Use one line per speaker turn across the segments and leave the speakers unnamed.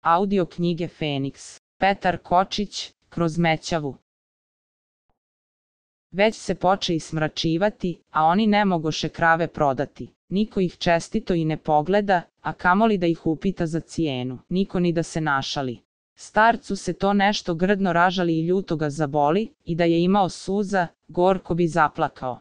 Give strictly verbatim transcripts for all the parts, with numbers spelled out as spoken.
Audio knjige Feniks. Petar Kočić, Kroz mećavu. Već se poče i smračivati, a oni ne mogoše krave prodati. Niko ih čestito i ne pogleda, a kamoli da ih upita za cijenu. Niko ni da se našali. Starcu se to nešto grdno ražali i ljuto ga zaboli, i da je imao suza, gorko bi zaplakao.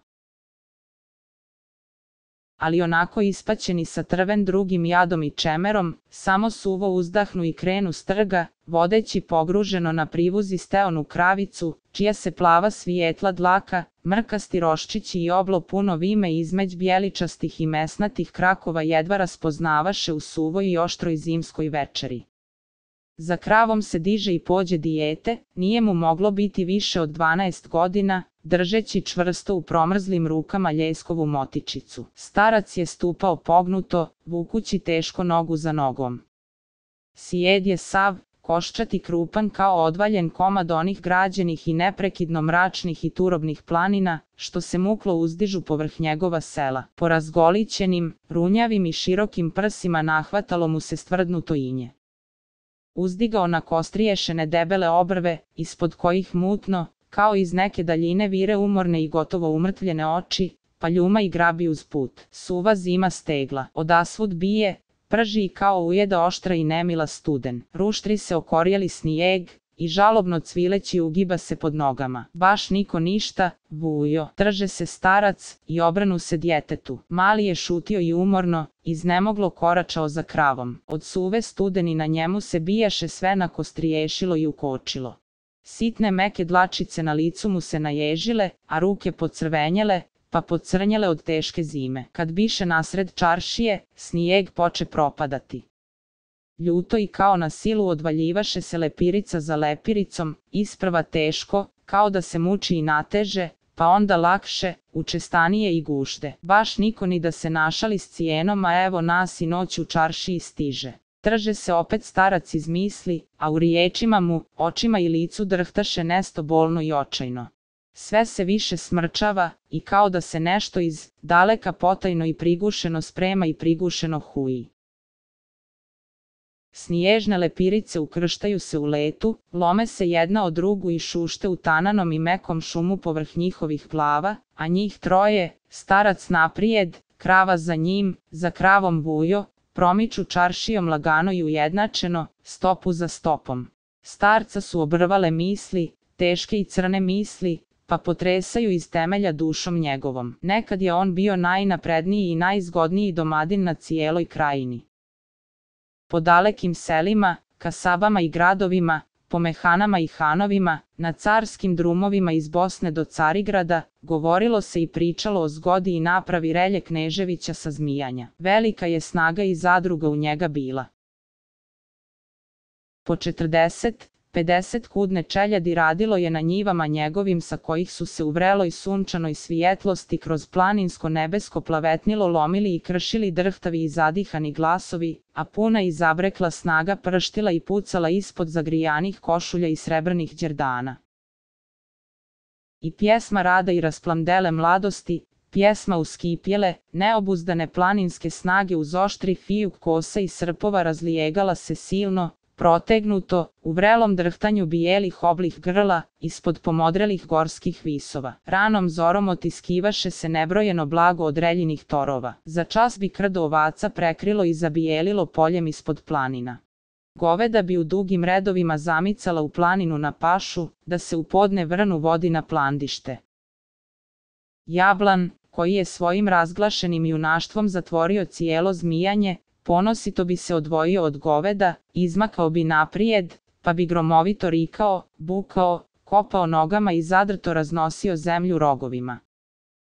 Ali onako ispaćeni sa trven drugim jadom i čemerom, samo suvo uzdahnu i krenu s trga, vodeći pogruženo na privuzi steonu kravicu, čija se plava svijetla dlaka, mrkasti roščići i oblo puno vime između bijeličastih i mesnatih krakova jedva raspoznavaše u suvoj i oštroj zimskoj večeri. Za kravom se diže i pođe dijete, nije mu moglo biti više od dvanaest godina, držeći čvrsto u promrzlim rukama ljeskovu motičicu. Starac je stupao pognuto, vukući teško nogu za nogom. Sijed je sav, koščat i krupan kao odvaljen komad onih građenih i neprekidno mračnih i turobnih planina, što se muklo uzdižu povrh njegova sela. Po razgolićenim, runjavim i širokim prsima nahvatalo mu se stvrdnuto inje. Uzdigao na kostriješene debele obrve, ispod kojih mutno, kao iz neke daljine vire umorne i gotovo umrtvljene oči, pa ljuma i grabi uz put. Suva zima stegla, odasvud bije, prži i kao ujeda oštra i nemila studen. Ruštri se okorjeli snijeg, i žalobno cvileći ugiba se pod nogama. Baš niko ništa, Vujo. Trže se starac, i obranu se djetetu. Mali je šutio i umorno, iznemoglo koračao za kravom. Od suve studeni na njemu se bijaše sve nakostriješilo i ukočilo. Sitne meke dlačice na licu mu se naježile, a ruke pocrvenjele, pa pocrnjele od teške zime. Kad biše nasred čaršije, snijeg poče propadati. Ljuto i kao na silu odvaljivaše se lepirica za lepiricom, isprva teško, kao da se muči i nateže, pa onda lakše, učestanije i gušte. Baš niko ni da se našali s cijenom, a evo nas i noć u čaršiji stiže. Trže se opet starac iz misli, a u riječima mu, očima i licu drhtaše nesto bolno i očajno. Sve se više smrčava, i kao da se nešto iz daleka potajno i prigušeno sprema i prigušeno huji. Sniježne lepirice ukrštaju se u letu, lome se jedna od drugu i šušte u tananom i mekom šumu povrh njihovih glava, a njih troje, starac naprijed, krava za njim, za kravom Vujo, promiču čaršijom lagano i ujednačeno, stopu za stopom. Starca su obrvale misli, teške i crne misli, pa potresaju iz temelja dušom njegovom. Nekad je on bio najnapredniji i najzgodniji domadin na cijeloj krajini. Po dalekim selima, kasabama i gradovima, po mehanama i hanovima, na carskim drumovima iz Bosne do Carigrada, govorilo se i pričalo o zgodi i napravi Relje Kneževića sa Zmijanja. Velika je snaga i zadruga u njega bila. Po četrdeset, pedeset kudne čeljadi radilo je na njivama njegovim sa kojih su se u vreloj sunčanoj svijetlosti kroz planinsko nebesko plavetnilo lomili i kršili drhtavi i zadihani glasovi, a puna i zabrekla snaga prštila i pucala ispod zagrijanih košulja i srebrnih đerdana. I pjesma rada i rasplamdele mladosti, pjesma uskipjele, neobuzdane planinske snage uz oštri fijuk kosa i srpova razlijegala se silno, protegnuto, u vrelom drhtanju bijelih oblih grla, ispod pomodrelih gorskih visova. Ranom zorom otiskivaše se nebrojeno blago od reljinih torova. Za čas bi krdo ovaca prekrilo i zabijelilo poljem ispod planina. Goveda bi u dugim redovima zamicala u planinu na pašu, da se u podne vrnu vodi na plandište. Jablan, koji je svojim razglašenim junaštvom zatvorio cijelo Zmijanje, ponosito bi se odvojio od goveda, izmakao bi naprijed, pa bi gromovito rikao, bukao, kopao nogama i zadrto raznosio zemlju rogovima.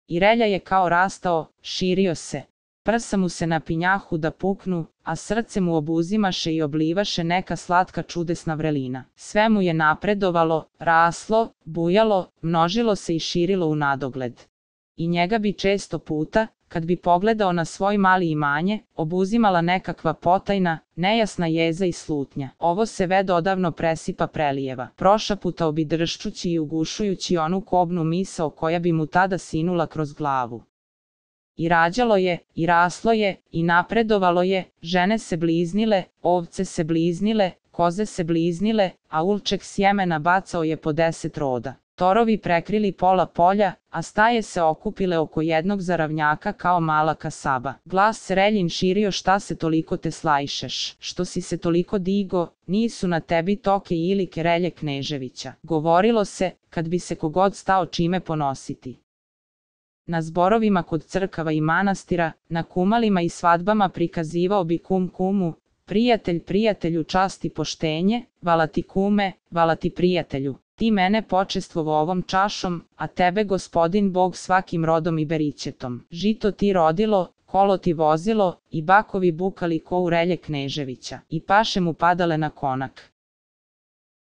I Relja je kao rastao, širio se. Prsa mu se napinjahu da puknu, a srce mu obuzimaše i oblivaše neka slatka čudesna vrelina. Sve mu je napredovalo, raslo, bujalo, množilo se i širilo u nadogled. I njega bi često puta, kad bi pogledao na svoj mali imanje, obuzimala nekakva potajna, nejasna jeza i slutnja. Ovo se ved odavno presipa prelijeva. Prošaputao bi drščući i ugušujući onu kobnu misao koja bi mu tada sinula kroz glavu. I rađalo je, i raslo je, i napredovalo je, žene se bliznile, ovce se bliznile, koze se bliznile, a ulček sjemena bacao je po deset roda. Torovi prekrili pola polja, a staje se okupile oko jednog zaravnjaka kao mala kasaba. Glas Sreljin širio: šta se toliko te slajšeš, što si se toliko digo, nisu na tebi toke ili kerelje Kneževića. Govorilo se, kad bi se kogod stao čime ponositi. Na zborovima kod crkava i manastira, na kumalima i svadbama prikazivao bi kum kumu: prijatelj prijatelju čast i poštenje, vala ti kume, vala ti prijatelju. Ti mene počestvovo ovom čašom, a tebe gospodin Bog svakim rodom i berićetom. Žito ti rodilo, kolo ti vozilo, i bakovi bukali ko u relje Kneževića, i paše mu padale na konak.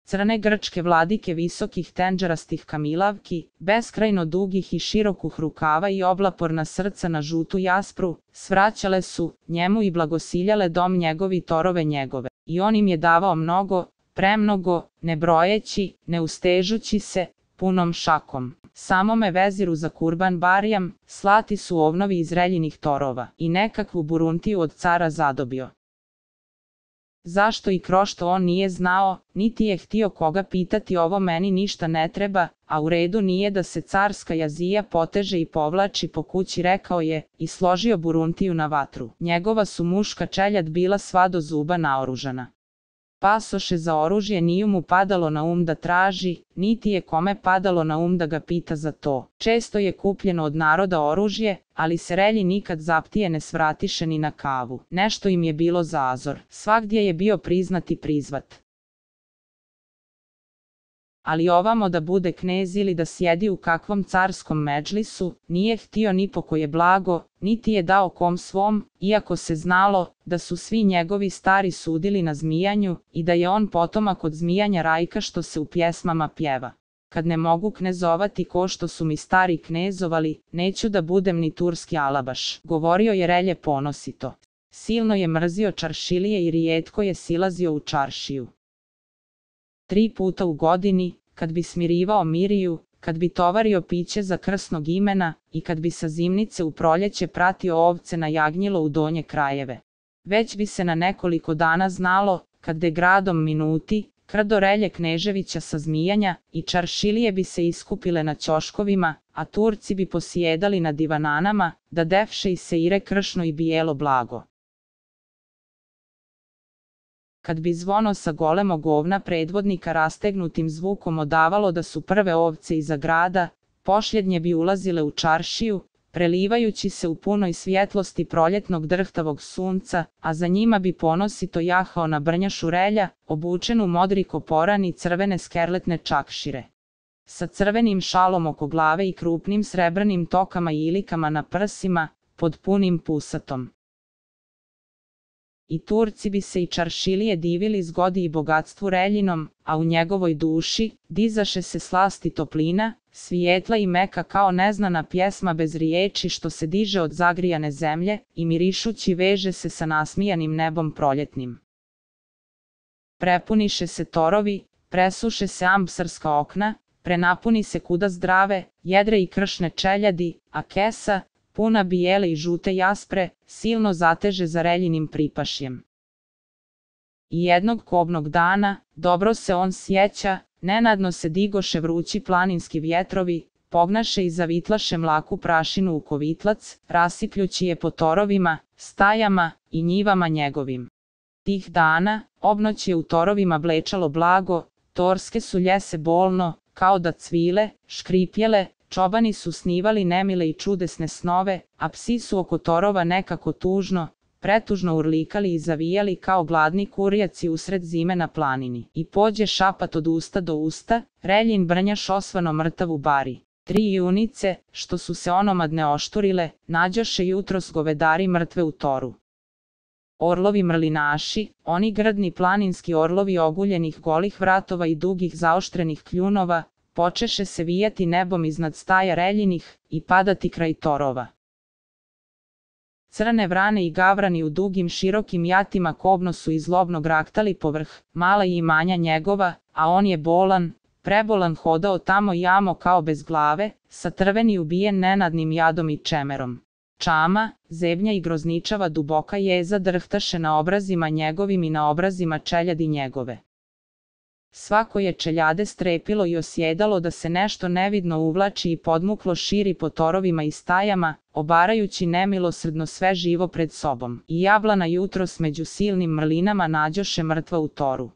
Crne grčke vladike visokih tenđerastih kamilavki, beskrajno dugih i širokih rukava i oblaporna srca na žutu jaspru, svraćale su njemu i blagosiljale dom njegovi torove njegove. I on im je davao mnogo, premnogo, ne brojeći, ne ustežući se, punom šakom. Samome veziru za kurban barijam, slati su ovnovi iz reljinih torova, i nekakvu buruntiju od cara zadobio. Zašto i krošto on nije znao, niti je htio koga pitati, ovo meni ništa ne treba, a u redu nije da se carska jazija poteže i povlači po kući, rekao je, i složio buruntiju na vatru. Njegova su muška čeljad bila sva do zuba naoružana. Pasoše za oružje nije mu padalo na um da traži, niti je kome padalo na um da ga pita za to. Često je kupljeno od naroda oružje, ali se relji nikad zaptije ne svratiše ni na kavu. Nešto im je bilo zazor, svagdje je bio priznat i prizvat. Ali ovamo da bude knez ili da sjedi u kakvom carskom medžlisu, nije htio ni po koje blago, niti je dao kom svom, iako se znalo da su svi njegovi stari sudili na zmijanju i da je on potomak od zmijanja Rajka što se u pjesmama pjeva. Kad ne mogu knezovati ko što su mi stari knezovali, neću da budem ni turski alabaš, govorio je relje ponosito. Silno je mrzio čaršilije i rijetko je silazio u čaršiju. Tri puta u godini, kad bi smirivao Miriju, kad bi tovario piće za krsnog imena i kad bi sa zimnice u proljeće pratio ovce na jagnjilo u donje krajeve. Već bi se na nekoliko dana znalo, kad de gradom minuti, krdo relje Kneževića sa zmijanja, i čaršilije bi se iskupile na ćoškovima, a Turci bi posjedali na divananama, da devše i seire kršno i bijelo blago. Kad bi zvono sa golemog ovna predvodnika rastegnutim zvukom odavalo da su prve ovce iza grada, pošljednje bi ulazile u čaršiju, prelivajući se u punoj svjetlosti proljetnog drhtavog sunca, a za njima bi ponosito jahao na brnjašu relja, obučen u modri koporan i crvene skerletne čakšire. Sa crvenim šalom oko glave i krupnim srebrnim tokama i ilikama na prsima, pod punim pusatom. I Turci bi se i čaršilije divili zgodi i bogatstvu reljinom, a u njegovoj duši dizaše se slast i toplina, svijetla i meka kao neznana pjesma bez riječi što se diže od zagrijane zemlje i mirišući veže se sa nasmijanim nebom proljetnim. Prepuniše se torovi, presuše se ambsarska okna, prenapuni se kuda zdrave, jedre i kršne čeljadi, a kesa, puna bijele i žute jaspre, silno zateže za reljinim pripašjem. I jednog kobnog dana, dobro se on sjeća, nenadno se digoše vrući planinski vjetrovi, pognaše i zavitlaše mlaku prašinu u kovitlac, rasipljući je po torovima, stajama i njivama njegovim. Tih dana, obnoć je u torovima blečalo blago, torske su ljese bolno, kao da cvile, škripjele, čobani su snivali nemile i čudesne snove, a psi su oko torova nekako tužno, pretužno urlikali i zavijali kao gladni kurjaci usred zime na planini. I pođe šapat od usta do usta, reljin brnjaš osvano mrtav u bari. Tri junice, što su se onomadne ošturile, nađoše jutros govedari mrtve u toru. Orlovi mrlinaši, oni grdni planinski orlovi oguljenih golih vratova i dugih zaoštrenih kljunova, počeše se vijati nebom iznad staja reljinih i padati kraj torova. Crne vrane i gavrani u dugim širokim jatima kobno su i zlobno graktali povrh mala i imanja njegova, a on je bolan, prebolan hodao tamo i amo kao bez glave, sa trveni ubijen nenadnim jadom i čemerom. čama, zebnja i grozničava duboka jeza drhtaše na obrazima njegovim i na obrazima čeljadi njegove. Svako je čeljade strepilo i osjedalo da se nešto nevidno uvlači i podmuklo širi po torovima i stajama, obarajući nemilosrdno sve živo pred sobom. I jablana jutros među silnim mrlinama nađoše mrtva u toru.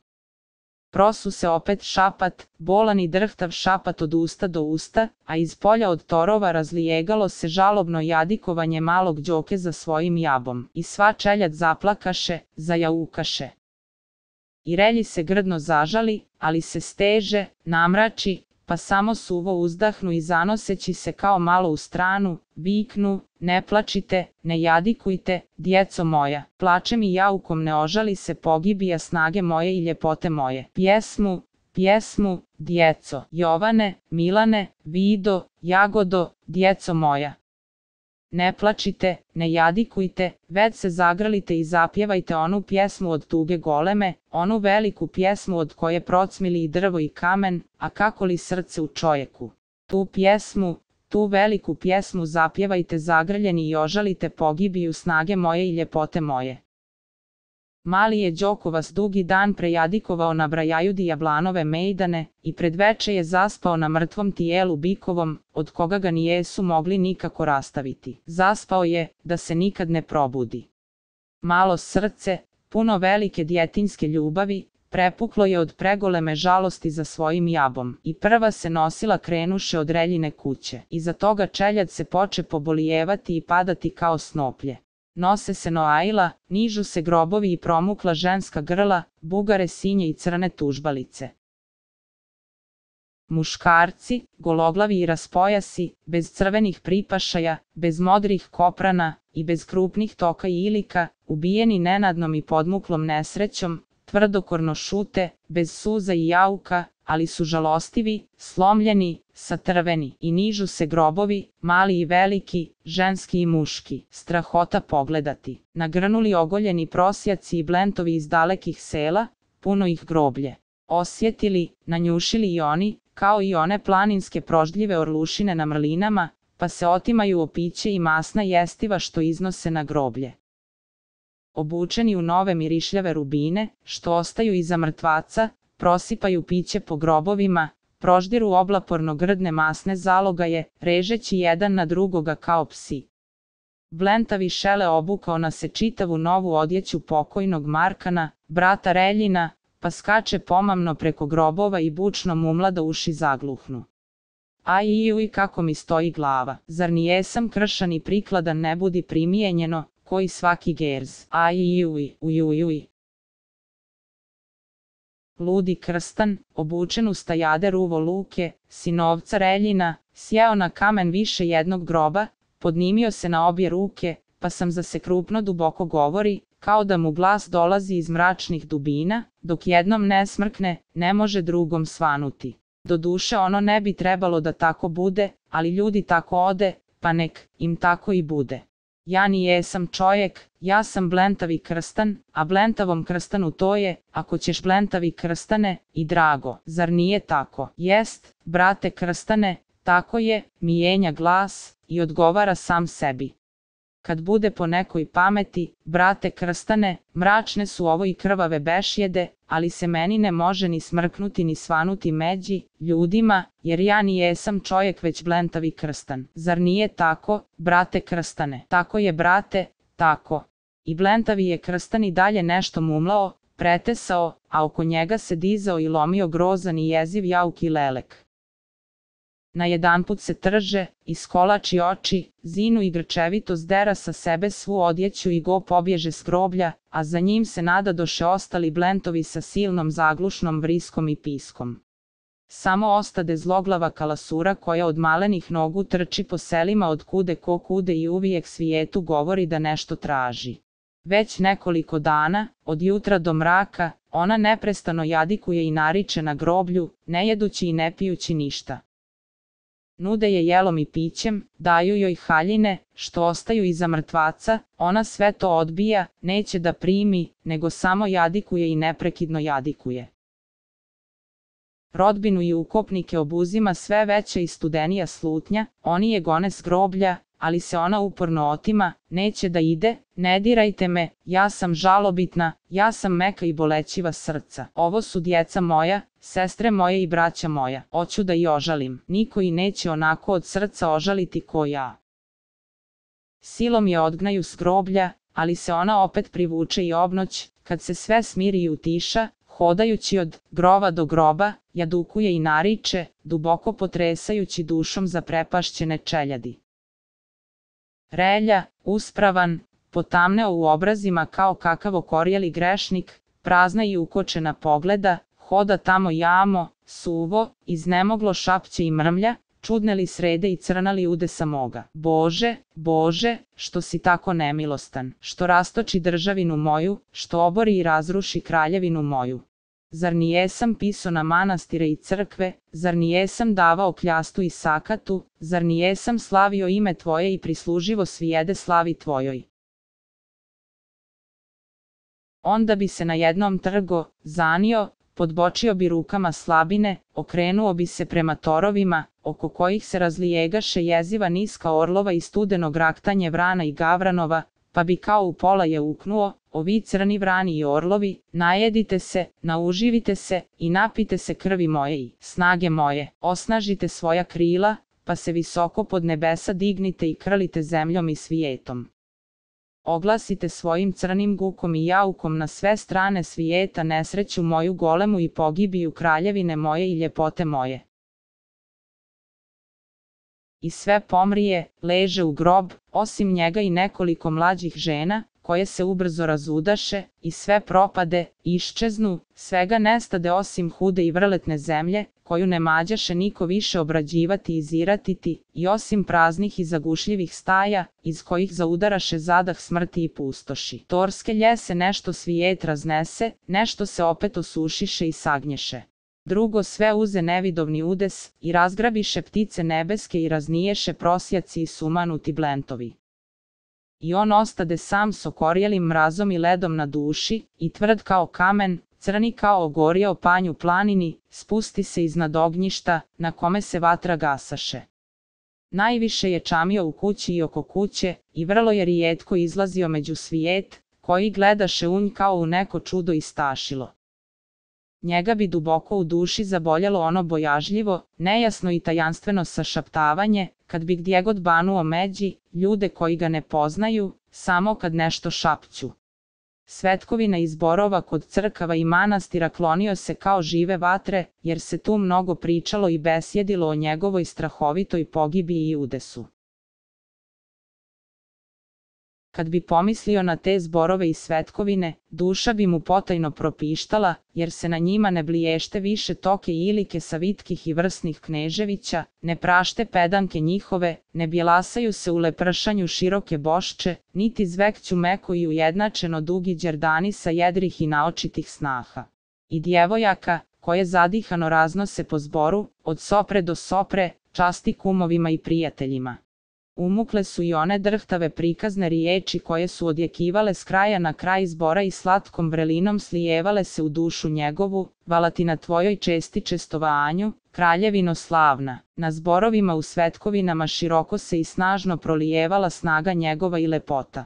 Prosu se opet šapat, bolan i drhtav šapat od usta do usta, a iz polja od torova razlijegalo se žalobno jadikovanje malog đoke za svojim jabom. I sva čeljad zaplakaše, zajaukaše. I relji se grdno zažali, ali se steže, namrači, pa samo suvo uzdahnu i zanoseći se kao malo u stranu, viknu, ne plačite, ne jadikujte, djeco moja, plačem i jaukom ne ožali se pogibija snage moje i ljepote moje. Pjesmu, pjesmu, djeco, Jovane, Milane, Vido, Jagodo, djeco moja. Ne plačite, ne jadikujte, već se zagrlite i zapjevajte onu pjesmu od tuge goleme, onu veliku pjesmu od koje procmili i drvo i kamen, a kako li srce u čovjeku. Tu pjesmu, tu veliku pjesmu zapjevajte zagrljeni i ožalite pogibiju snage moje i ljepote moje. Mali je Đokovas dugi dan prejadikovao na brajajudi jablanove mejdane i pred veče je zaspao na mrtvom tijelu bikovom, od koga ga nijesu mogli nikako rastaviti. Zaspao je, da se nikad ne probudi. Malo srce, puno velike djetinjske ljubavi, prepuklo je od pregoleme žalosti za svojim jabom i prva se nosila krenuše od reljine kuće. Iza toga čeljad se poče pobolijevati i padati kao snoplje. Nose se noaila, nižu se grobovi i promukla ženska grla, bugare sinje i crne tužbalice. Muškarci, gologlavi i raspojasi, bez crvenih pripašaja, bez modrih koprana i bez krupnih toka i ilika, ubijeni nenadnom i podmuklom nesrećom, tvrdokorno šute, bez suza i jauka, ali su žalostivi, slomljeni, satrveni i nižu se grobovi, mali i veliki, ženski i muški, strahota pogledati. Nagrnuli ogoljeni prosjaci i blentovi iz dalekih sela, puno ih groblje. Osjetili, nanjušili i oni, kao i one planinske proždljive orlušine na mrlinama, pa se otimaju opiće i masna jestiva što iznose na groblje. Obučeni u nove mirišljave rubine, što ostaju iza mrtvaca, prosipaju piće po grobovima, proždiru oblaporno grdne masne zalogaje, režeći jedan na drugoga kao psi. Blentavi šele obukao na se čitavu novu odjeću pokojnog Markana, brata Reljina, pa skače pomamno preko grobova i bučno mumla da uši zagluhnu. Aj i uj kako mi stoji glava, zar nijesam kršan i prikladan ne budi primijenjeno, koji svaki gerz. Aj i uj, uj uj uj. Ludi Krstan, obučen u stajade ruvo Luke, sinovca Reljina, sjeo na kamen više jednog groba, podnimio se na obje ruke, pa sam za se krupno duboko govori, kao da mu glas dolazi iz mračnih dubina, dok jednom ne smrkne, ne može drugom svanuti. Doduše ono ne bi trebalo da tako bude, ali ljudi tako ode, pa nek im tako i bude. Ja nijesam čovjek, ja sam blentavi Krstan, a blentavom Krstanu to je, ako ćeš blentavi Krstane, i drago, zar nije tako? Jest, brate Krstane, tako je, mijenja glas, i odgovara sam sebi. Kad bude po nekoj pameti, brate Krstane, mračne su ovo i krvave bešjede, ali se meni ne može ni smrknuti ni svanuti međi ljudima, jer ja nijesam čovjek već blentavi Krstan. Zar nije tako, brate Krstane? Tako je, brate, tako. I blentavi je Krstan i dalje nešto mumlao, pretesao, a oko njega se dizao i lomio grozan i jeziv jauk i lelek. Najedanput se trže, iskolači oči, zinu i grčevito zdera sa sebe svu odjeću i go pobježe s groblja, a za njim se nadadoše ostali blentovi sa silnom zaglušnom vriskom i piskom. Samo ostade zloglava kalasura koja od malenih nogu trči po selima od kude ko kude i uvijek svijetu govori da nešto traži. Već nekoliko dana, od jutra do mraka, ona neprestano jadikuje i nariče na groblju, ne jedući i ne pijući ništa. Nude je jelom i pićem, daju joj haljine, što ostaju iza mrtvaca, ona sve to odbija, neće da primi, nego samo jadikuje i neprekidno jadikuje. Rodbinu i ukopnike obuzima sve veća i studenija slutnja, oni je gone s groblja, ali se ona uporno otima, neće da ide, ne dirajte me, ja sam žalobitna, ja sam meka i bolećiva srca. Ovo su djeca moja, sestre moje i braća moja, hoću da i ožalim, niko i neće onako od srca ožaliti ko ja. Silom je odgnaju s groblja, ali se ona opet privuče i obnoć, kad se sve smiri i utiša, hodajući od grova do groba, jadukuje i nariče, duboko potresajući dušom zaprepašćene čeljadi. Relja, uspravan, potamneo u obrazima kao kakav okorjeli grešnik, prazna i ukočena pogleda, hoda tamo jamo, suvo, iznemoglo šapće i mrmlja, čudne li srede i crna li udesa moga. Bože, Bože, što si tako nemilostan, što rastoči državinu moju, što obori i razruši kraljevinu moju. Zar nijesam piso na manastire i crkve, zar nijesam davao kljastu i sakatu, zar nijesam slavio ime Tvoje i prisluživo svijede slavi Tvojoj. Onda bi se na jednom trgo, zanio, podbočio bi rukama slabine, okrenuo bi se prema torovima, oko kojih se razlijegaše jeziva niska orlova i studeno graktanje vrana i gavranova, pa bi kao u pola je uknuo, ovi crni vrani i orlovi, najedite se, nauživite se i napite se krvi moje i snage moje, osnažite svoja krila, pa se visoko pod nebesa dignite i krlite zemljom i svijetom. Oglasite svojim crnim gukom i jaukom na sve strane svijeta nesreću moju golemu i pogibiju kraljevine moje i ljepote moje. I sve pomrije, leže u grob, osim njega i nekoliko mlađih žena, koje se ubrzo razudaše, i sve propade, iščeznu, svega nestade osim hude i vrletne zemlje, koju ne mađaše niko više obrađivati i ziratiti, i osim praznih i zagušljivih staja, iz kojih zaudaraše zadah smrti i pustoši. Torske ljese nešto svijet raznese, nešto se opet osušiše i sagnješe. Drugo sve uze nevidovni udes, i razgrabiše ptice nebeske i razniješe prosjaci i sumanuti blentovi. I on ostade sam s okorjelim mrazom i ledom na duši, i tvrd kao kamen, crni kao ogorio panj u planini, spusti se iznad ognjišta, na kome se vatra gasaše. Najviše je čamio u kući i oko kuće, i vrlo je rijetko izlazio među svijet, koji gledaše u nj kao u neko čudo i stašilo. Njega bi duboko u duši zaboljelo ono bojažljivo, nejasno i tajanstveno sašaptavanje, kad bi gdje god banuo međi, ljude koji ga ne poznaju, samo kad nešto šapću. Svetkovina iz zborova kod crkava i manastira klonio se kao žive vatre, jer se tu mnogo pričalo i besjedilo o njegovoj strahovitoj pogibiji i udesu. Kad bi pomislio na te zborove i svetkovine, duša bi mu potajno propištala, jer se na njima ne bliješte više toke i ilike savitkih i vrsnih kneževića, ne prašte pedanke njihove, ne bjelasaju se u lepršanju široke bošče, niti zvekću meko i ujednačeno dugi đerdani sa jedrih i naočitih snaha. I djevojaka, koje zadihano raznose po zboru, od sopre do sopre, časti kumovima i prijateljima. Umukle su i one drhtave prikazne riječi koje su odjekivale s kraja na kraj zbora i slatkom vrelinom slijevale se u dušu njegovu, vala ti na tvojoj česti čestovanju, kraljevino slavna. Na zborovima u svetkovinama široko se i snažno prolijevala snaga njegova i lepota.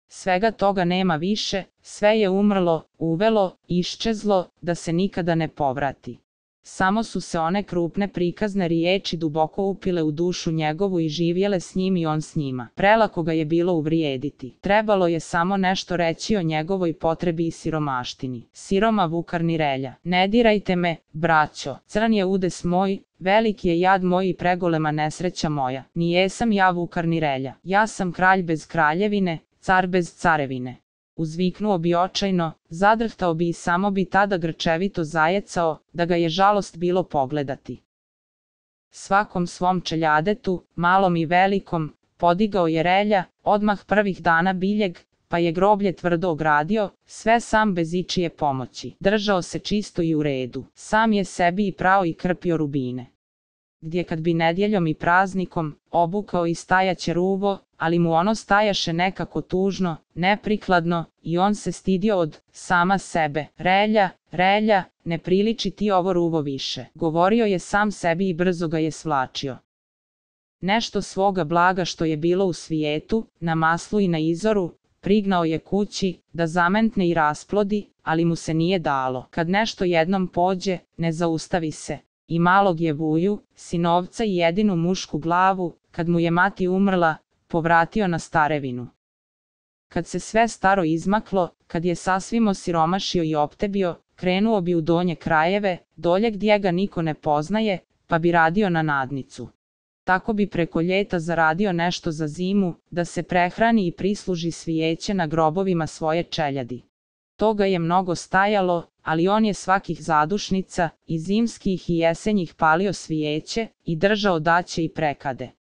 Svega toga nema više, sve je umrlo, uvelo, iščezlo, da se nikada ne povrati. Samo su se one krupne prikazne riječi duboko upile u dušu njegovu i živjele s njim i on s njima. Prelako ga je bilo uvrijediti. Trebalo je samo nešto reći o njegovoj potrebi i siromaštini. Siroma Vukarni Relja. Ne dirajte me, braćo, crn je udes moj, veliki je jad moj i pregolema nesreća moja. Nijesam ja Vukarni Relja. Ja sam kralj bez kraljevine, car bez carevine. Uzviknuo bi očajno, zadrhtao bi i samo bi tada grčevito zajecao, da ga je žalost bilo pogledati. Svakom svom čeljadetu, malom i velikom, podigao je Relja, odmah prvih dana biljeg, pa je groblje tvrdo ogradio, sve sam bez ičije pomoći. Držao se čisto i u redu, sam je sebi i prao i krpio rubine. Gdje kad bi nedjeljom i praznikom, obukao i stajaće ruvo, ali mu ono stajaše nekako tužno, neprikladno, i on se stidio od sama sebe. Relja, Relja, ne priliči ti ovo ruvo više. Govorio je sam sebi i brzo ga je svlačio. Nešto svoga blaga što je bilo u svijetu, na maslu i na izoru, prignao je kući, da zamentne i rasplodi, ali mu se nije dalo. Kad nešto jednom pođe, ne zaustavi se. I malog je Vuju, sinovca i jedinu mušku glavu, kad mu je mati umrla, povratio na starevinu. Kad se sve staro izmaklo, kad je sasvim osiromašio i optebio, krenuo bi u donje krajeve, dolje gdje ga niko ne poznaje, pa bi radio na nadnicu. Tako bi preko ljeta zaradio nešto za zimu, da se prehrani i prisluži svijeće na grobovima svoje čeljadi. Toga je mnogo stajalo, ali on je svakih zadušnica, i zimskih i jesenjih palio svijeće, i držao daće i prekade.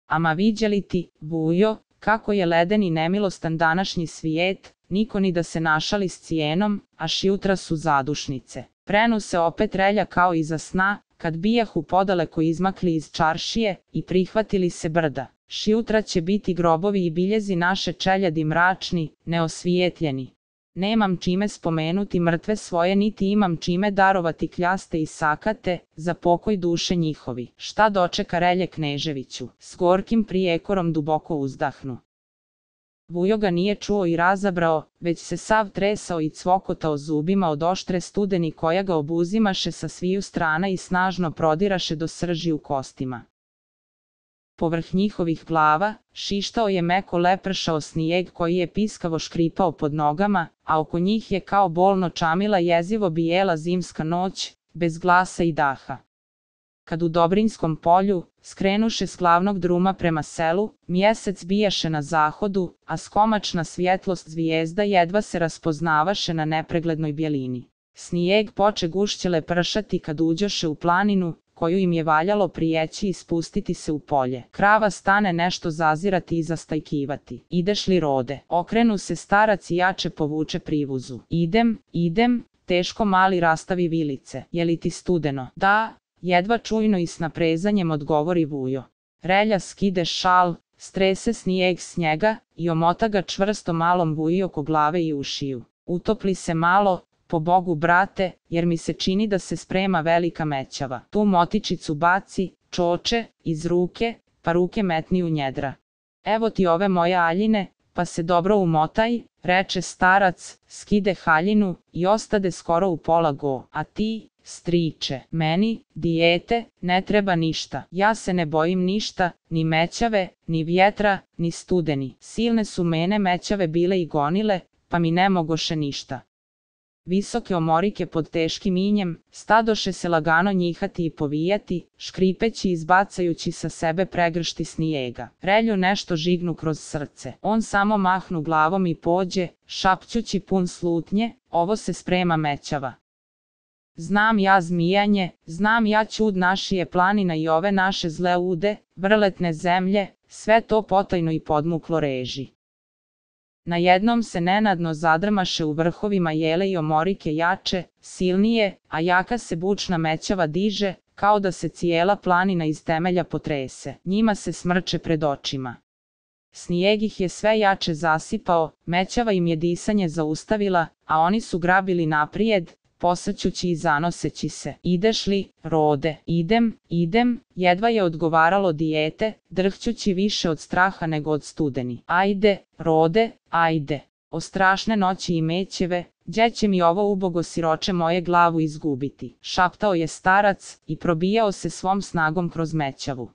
Ama viđeli ti, Vujo, kako je leden i nemilostan današnji svijet, niko ni da se našali s cijenom, a šjutra su zadušnice. Prenu se opet relja kao iza sna, kad bijahu podaleko izmakli iz čaršije i prihvatili se brda. Šjutra će biti grobovi i biljezi naše čeljadi mračni, neosvijetljeni. Nemam čime spomenuti mrtve svoje, niti imam čime darovati kljaste i sakate, za pokoj duše njihovi. Šta dočeka relje Kneževiću? S gorkim prijekorom duboko uzdahnu. Vujo ga nije čuo i razabrao, već se sav tresao i cvokotao zubima od oštre studeni koja ga obuzimaše sa sviju strana i snažno prodiraše do srži u kostima. Povrh njihovih glava, šištao je meko lepršao snijeg koji je piskavo škripao pod nogama, a oko njih je kao bolno čamila jezivo bijela zimska noć, bez glasa i daha. Kad u Dobrinskom polju, skrenuše s glavnog druma prema selu, mjesec bijaše na zahodu, a skomačna svjetlost zvijezda jedva se raspoznavaše na nepreglednoj bjelini. Snijeg poče gušće lepršati kad uđoše u planinu, koju im je valjalo prijeći i spustiti se u polje. Krava stane nešto zazirati i zastajkivati. Ideš li, Rode? Okrenu se starac i jače povuče privuzu. Idem, idem, teško mali rastavi vilice. Je li ti studeno? Da, jedva čujno i s naprezanjem odgovori Vujo. Relja skide šal, strese snijeg s njega i omota ga čvrsto malom Vuji oko glave i ušiju. Utopli se malo, po Bogu brate, jer mi se čini da se sprema velika mećava. Tu motičicu baci, čoče, iz ruke, pa ruke metni u njedra. Evo ti ove moje aljine, pa se dobro umotaj, reče starac, skide haljinu i ostade skoro u pola go. A ti, striče, meni, dijete, ne treba ništa. Ja se ne bojim ništa, ni mećave, ni vjetra, ni studeni. Silne su mene mećave bile i gonile, pa mi ne mogoše ništa. Visoke omorike pod teškim injem, stadoše se lagano njihati i povijati, škripeći i izbacajući sa sebe pregršti snijega. Relju nešto žignu kroz srce. On samo mahnu glavom i pođe, šapćući pun slutnje, ovo se sprema mećava. Znam ja zmijanje, znam ja čud našije planina i ove naše zle ude, vrletne zemlje, sve to potajno i podmuklo reži. Najednom se nenadno zadrmaše u vrhovima jele i omorike jače, silnije, a jaka se bučna mećava diže, kao da se cijela planina iz temelja potrese. Njima se smrče pred očima. Snijeg ih je sve jače zasipao, mećava im je disanje zaustavila, a oni su grabili naprijed, posrćući i zanoseći se. Ideš li, Rode? Idem, idem, jedva je odgovaralo dijete, drhćući više od straha nego od studeni. Ajde, Rode, ajde. O strašne noći i mećeve, gdje će mi ovo ubogo siroče moje glavu izgubiti? Šaptao je starac i probijao se svom snagom kroz mećavu.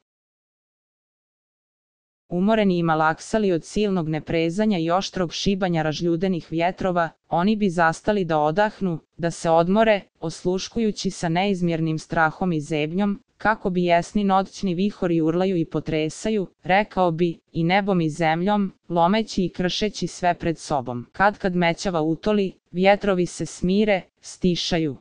Umoreni i malaksali od silnog neprezanja i oštrog šibanja ražljudenih vjetrova, oni bi zastali da odahnu, da se odmore, osluškujući sa neizmjernim strahom i zebnjom, kako bi jesni noćni vihori urlaju i potresaju, rekao bi, i nebom i zemljom, lomeći i kršeći sve pred sobom. Kad kad mećava utoli, vjetrovi se smire, stišaju.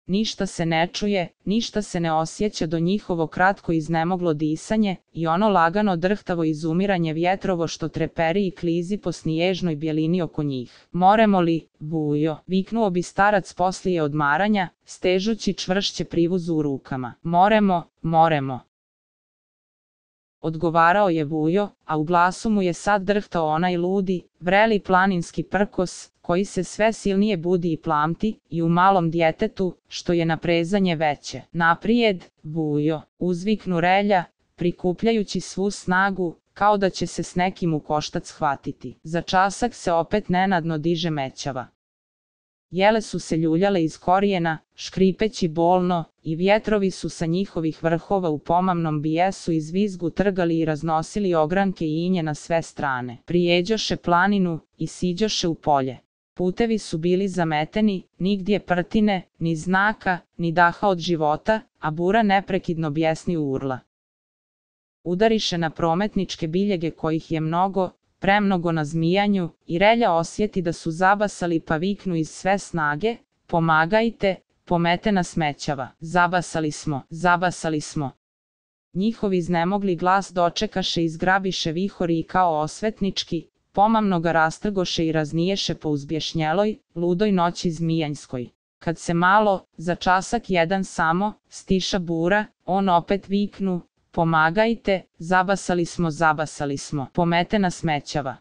Ništa se ne čuje, ništa se ne osjeća do njihovo kratko iznemoglo disanje i ono lagano drhtavo izumiranje vjetrovo što treperi i klizi po sniježnoj bjelini oko njih. Moremo li, Vujo, viknuo bi starac poslije odmaranja, stežući čvršće privuzu u rukama. Moremo, moremo. Odgovarao je Vujo, a u glasu mu je sad drhtao onaj ludi, vreli planinski prkos, koji se sve silnije budi i plamti, i u malom djetetu, što je naprezanje veće. Naprijed, Vujo, uzviknu relja, prikupljajući svu snagu, kao da će se s nekim u koštac hvatiti. Za časak se opet nenadno diže mećava. Jele su se ljuljale iz korijena, škripeći bolno, i vjetrovi su sa njihovih vrhova u pomamnom bijesu i zvizgu trgali i raznosili ogranke i inje na sve strane. Prijeđoše planinu i siđoše u polje. Putevi su bili zameteni, nigdje prtine, ni znaka, ni daha od života, a bura neprekidno bjesni urla. Udariše na prometničke biljege kojih je mnogo, premnogo na zmijanju, i Relja osjeti da su zabasali pa viknu iz sve snage: pomagajte, pomete nas smećava. Zabasali smo, zabasali smo. Njihov iznemogli glas dočekaše i zgrabiše vihori i kao osvetnički, pomamno ga rastrgoše i razniješe po uzbješnjeloj, ludoj noći zmijanjskoj. Kad se malo, za časak jedan samo, stiša bura, on opet viknu: pomagajte, zabasali smo, zabasali smo, pomete nas smećava.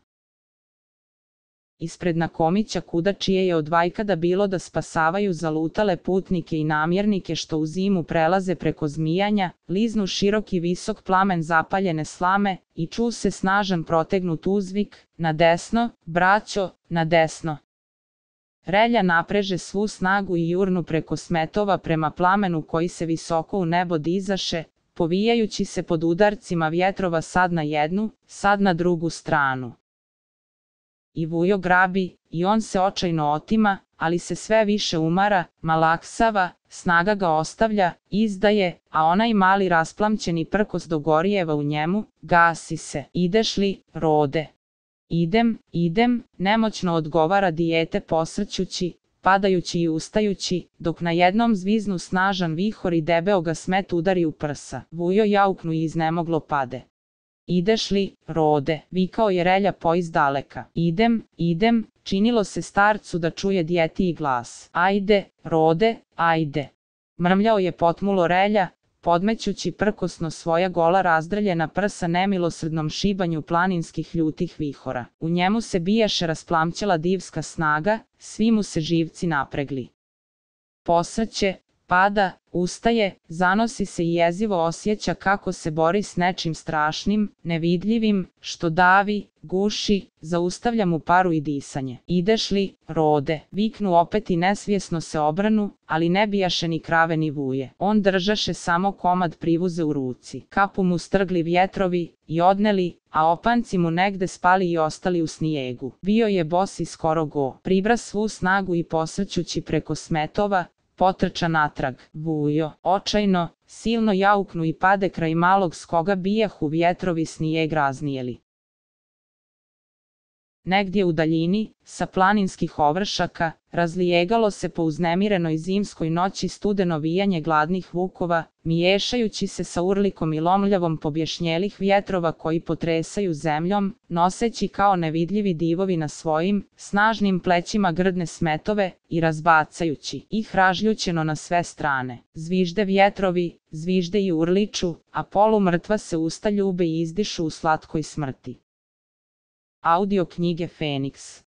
Ispred Nakomića kuda čije je od vajkada bilo da spasavaju zalutale putnike i namjernike što u zimu prelaze preko zmijanja, liznu široki visok plamen zapaljene slame i ču se snažan protegnut uzvik: na desno, braćo, na desno. Relja napreže svu snagu i jurnu preko smetova prema plamenu koji se visoko u nebo dizaše, povijajući se pod udarcima vjetrova sad na jednu, sad na drugu stranu. I Vujo grabi, i on se očajno otima, ali se sve više umara, malaksava, snaga ga ostavlja, izdaje, a onaj mali rasplamćeni prkos do gorijeva u njemu, gasi se. Ideš li, Rode? Idem, idem, nemoćno odgovara dijete posrćući, padajući i ustajući, dok na jednom zviznu snažan vihor i debeo ga smet udari u prsa. Vujo jauknu i iznemoglo pade. Ideš li, Rode? Vikao je Relja poiz daleka. Idem, idem, činilo se starcu da čuje djetiji glas. Ajde, Rode, ajde. Mrmljao je potmulo Relja, podmećući prkosno svoja gola razdrljena prsa nemilosrdnom šibanju planinskih ljutih vihora. U njemu se bijaše rasplamćela divska snaga, svi mu se živci napregli. Posrće, pada, ustaje, zanosi se i jezivo osjeća kako se bori s nečim strašnim, nevidljivim, što davi, guši, zaustavlja mu paru i disanje. Ideš li, Rode? Viknu opet i nesvjesno se obranu, ali ne bijaše ni krave ni vuje. On držaše samo komad privuze u ruci. Kapu mu strgli vjetrovi i odneli, a opanci mu negde spali i ostali u snijegu. Bio je bos i skoro go. Pribra svu snagu i posrćući preko smetova, potrča natrag. Vujo, očajno, silno jauknu i pade kraj malog s koga bijahu vjetrovi snijeg raznijeli. Negdje u daljini, sa planinskih ovršaka, razlijegalo se po uznemirenoj zimskoj noći studeno vijanje gladnih vukova, miješajući se sa urlikom i lomljavom pobješnjelih vjetrova koji potresaju zemljom, noseći kao nevidljivi divovi na svojim, snažnim plećima grdne smetove i razbacajući ih ražljućeno na sve strane. Zvižde vjetrovi, zvižde i urliču, a polumrtva se usta ljube i izdišu u slatkoj smrti. Audio knjige Feniks.